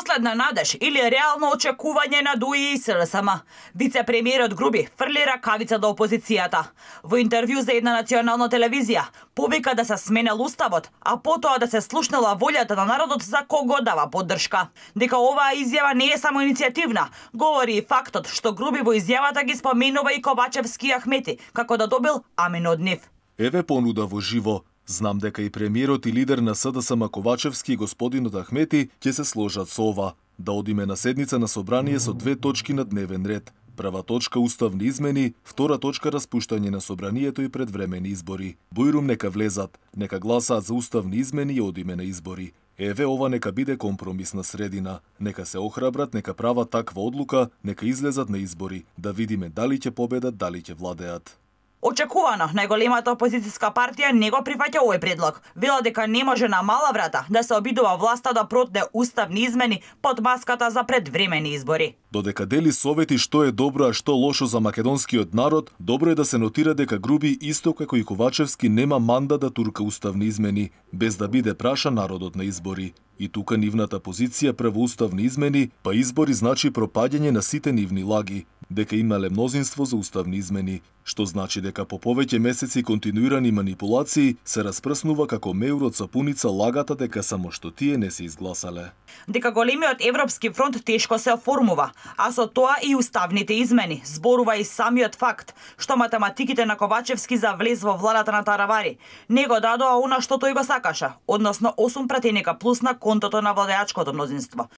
последна надеж или реално очекување на ДУИ и СРСМ. Вице-премиерот Груби фрли ракавица до опозицијата. Во интервју за една национална телевизија повика да се сменел уставот, а потоа да се слушнела волјата на народот за кого дава поддршка. Дека оваа изјава не е само иницијативна, говори и фактот што Груби во изјавата ги споменува и Ковачевски и Ахмети, како да добил амин од нив. Еве понуда во живо. Знам дека и премиерот и лидер на СДСМ Ковачевски и господинот Ахмети ќе се сложат со ова, да одиме на седница на собрание со 2 точки на дневен ред. Прва точка уставни измени, втора точка распуштање на собранието и предвремени избори. Бујрум нека влезат, нека гласаат за уставни измени и одиме на избори. Еве ова нека биде компромисна средина. Нека се охрабрат, нека прават таква одлука, нека излезат на избори, да видиме дали ќе победат, дали ќе владеат. Очекувано, најголемата опозицијска партија не го прифаќа овој предлог. Вела дека не може на мала врата да се обидува власта да протне уставни измени под маската за предвремени избори. Додека дели совети што е добро, а што лошо за македонскиот народ, добро е да се нотира дека Груби исто како и Ковачевски нема мандат да турка уставни измени, без да биде праша народот на избори. И тука нивната позиција прво уставни измени, па избори значи пропаѓање на сите нивни лаги, дека имале мнозинство за уставни измени, што значи дека по повеќе месеци континуирани манипулации се распрснува како меур од сапуница лагата дека само што тие не се изгласале. Дека големиот Европски фронт тешко се оформува, а со тоа и уставните измени, зборува и самиот факт што математиките на Ковачевски за влез во владата на Таравари не го дадоа она што тој го сакаше, односно 8 пратеника плюс на контото на владеачкото мнозинство,